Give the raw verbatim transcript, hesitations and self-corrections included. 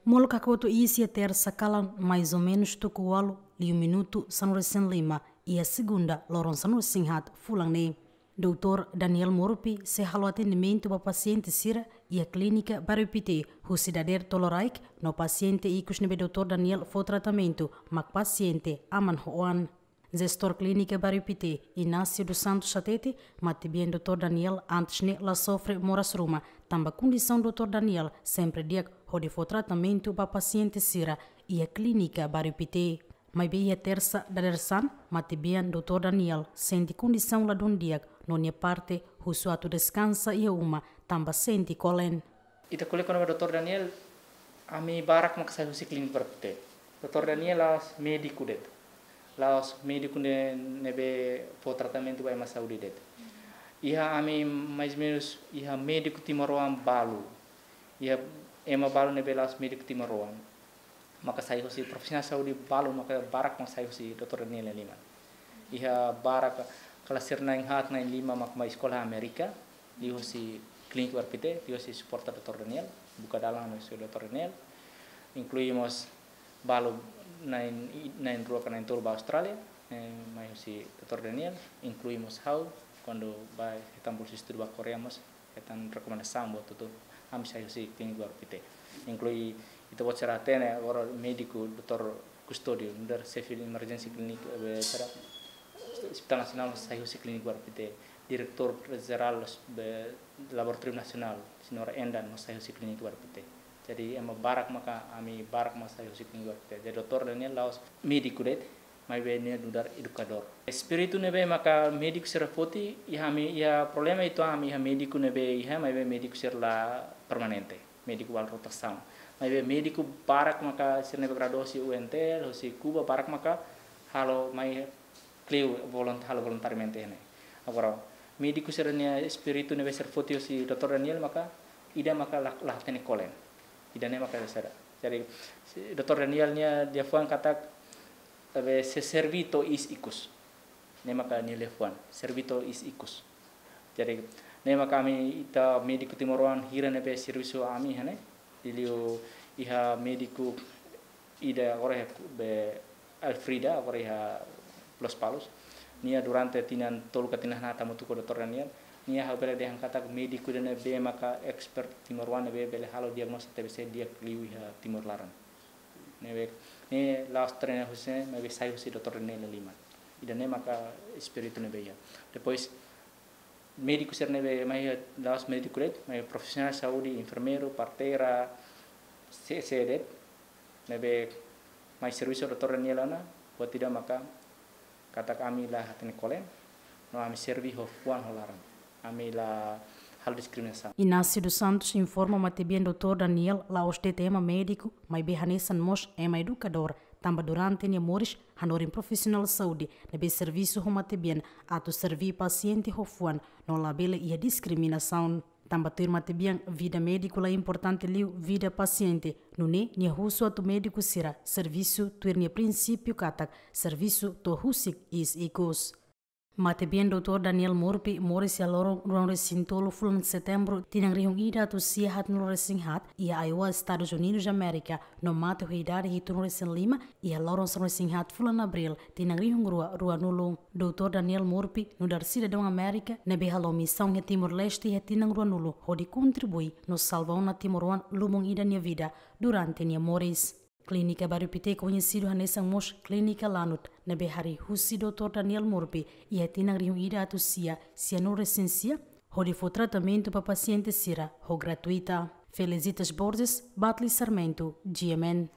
Molok hakotu iha Tersa kalan, mais ou menus tuku ualu liu minutu sanulu-resin-lima, iha Segunda loron sanulu-resin-haat fulan ne'e. Doutór Daniel Murphy sei halo atendimentu ba pasiente sira iha Klínika Bairru Pité, husi dadeer tolu oras, no pasiente ikus ne'ebé Doutór Daniel fó tratamentu mak pasiente aman ho oan. Jestór Klínika Bairru Pité, Inácio dos Santos hatete, matebian Doutór Daniel antes ne'e la sofre moras ruma, tanba kondisaun Doutór Daniel sempre di'ak hodi fó tratamentu ba pasiente sira iha Klínika Bairru Pité. Maibé iha Tersa dadeer-saan, matebian Doutór Daniel sente kondisaun ladún di'ak, no nia parte husu atu deskansa iha uma, tanba sente kolen. Ita ko'alia kona-ba Doutór Daniel, ami barak mak sai husi Klínika Bairru Pité. Doutór Daniel la'ós médiku de'it. La'ós médiku ne'e, ne'ebé fó tratamentu ba ema saúde de'it. Iha ami mais ou menus, iha médiku timoroan balu. Iha ema balu ne'ebé la'ós médiku timoroan. Maka sai husi profisionál saúde balu, maka barak mak sai husi Doutór Daniel nia liman. Iha barak, kala sira na'in-haat na'in-lima mak mai eskola Amérika, liuhusi Klínika Bairru Pité, liuhusi suporta Doutór Daniel, buka dalan husi Doutór Daniel. Inklui mós balu na'in, na'in-rua ka na'in-tolu ba Austrália, eh, mai husi Doutór Daniel, inklui mós ha'u, kuandu ba hetan bolsa estudu ba Koreia mós, hetan rekomendasaun buat hotu, ami sai husi Klínika Bairru Pité. Inklui ita-boot sira hatene agora médiku Doutór Custódio, nu'udar xefe emerjénsia klínika, eh, sira, Hospital Nasionál sai husi Klínika Bairru Pité. Diretór Jerál be Laboratóriu Nasionál, Señora Endan, mós sai husi Klínika Bairru Pité. Jadi ema barak maka, ami barak mak sai husi Klínika Bairru Pité. Jadi Doutór Daniel la'ós médiku de'it, maibé nia nu'udar edukadór. Espíritu ne'ebé maka médiku sira foti, iha ami, iha problema uitoan ami iha médiku ne'ebé iha, maibé médiku sira la permanente. Médiku balu rotasaun. Maibé médiku barak maka sira ne'ebé gradua husi U N T L, husi Kuba, barak maka halo mai kleur volunt-, halo voluntariamente ne'e. Agora, médiku sira-nia espíritu ne'ebé sira foti husi Doutór Daniel maka, ida maka la, la hatene kolen. Ida-ne'e maka sira. Jadi, si-, Doutór Daniel nia liafuan katak, tabe se serví to'o iis ikus. Ne'e maka nia liafuan, serví to'o iis ikus. Jadi, ne'e maka ami ita médiku timoroan hira ne'ebé servisu ami iha ne'e. Liuliu iha médiku ida agora iha be Alfrida, agora iha Lospalos. Nia durante tinan tolu ka tinan haat hamutuk ho Doutór Daniel. Nia ha'u bele dehan katak médiku ida ne'ebé maka expert timoroan ne'ebé bele halo diagnóstiku T B C di'ak liu iha Timor laran. Ne'ebé, ne'e la'ós treina husi, maibé sai husi Doutór Daniel nia liman. Ida-ne'e maka espíritu ne'ebé iha. Depois, médiku sira ne'ebé mai iha la'ós médiku de'it, maibé profisionál saúde, enfermeiru, parteira, se, se de'it, ne'ebé mai servisu Doutór Daniel ona, buat ida maka katak ami la hatene kolen, no ami serví ho fuan ho laran. Ami la halo diskriminasaun. Inácio dos Santos informa matebian Doutór Daniel la'ós de'it ema médiku, maibé hanesan mós ema edukadór, tanba durante nia moris hanorin profisionál saúde ne'ebé servisu ho matebian atu serví pasiente ho fuan, no labele iha diskriminasaun. Tanba tuir matebian vida médiku la importante liu vida pasiente, nune'e nia husu atu médiku sira servisu tuir nia prinsípiu katak servisu to'o husik iis ikus. Matebian Doutór Daniel Murphy moris iha loron ruanulu-resin-tolu fulan Setembru tinan rihun ida atus sia haatnulu-resin-haat iha Iowa, Estadus Unidus Amérika, no mate ho idade hitunulu-resin-lima iha loron sanulu-resin-haat fulan Abríl tinan rihun rua ruanulu. Doutór Daniel Murphy nu'udar sidadaun Amérika ne'ebé halo misaun iha Timor-Leste iha tinan ruanulu hodi kontribui no salva ona timoroan lubun ida nia vida durante nia moris. Klínika Bairru Pité koñesidu hanesan mós Klínika Lanut, ne'ebé harii husi Doutór Daniel Murphy iha tinan rihun ida atus sia sianulu-resin-sia, hodi fó tratamentu ba pasiente sira ho gratuita. Felicitas Borges, Batli Sarmento, G M N.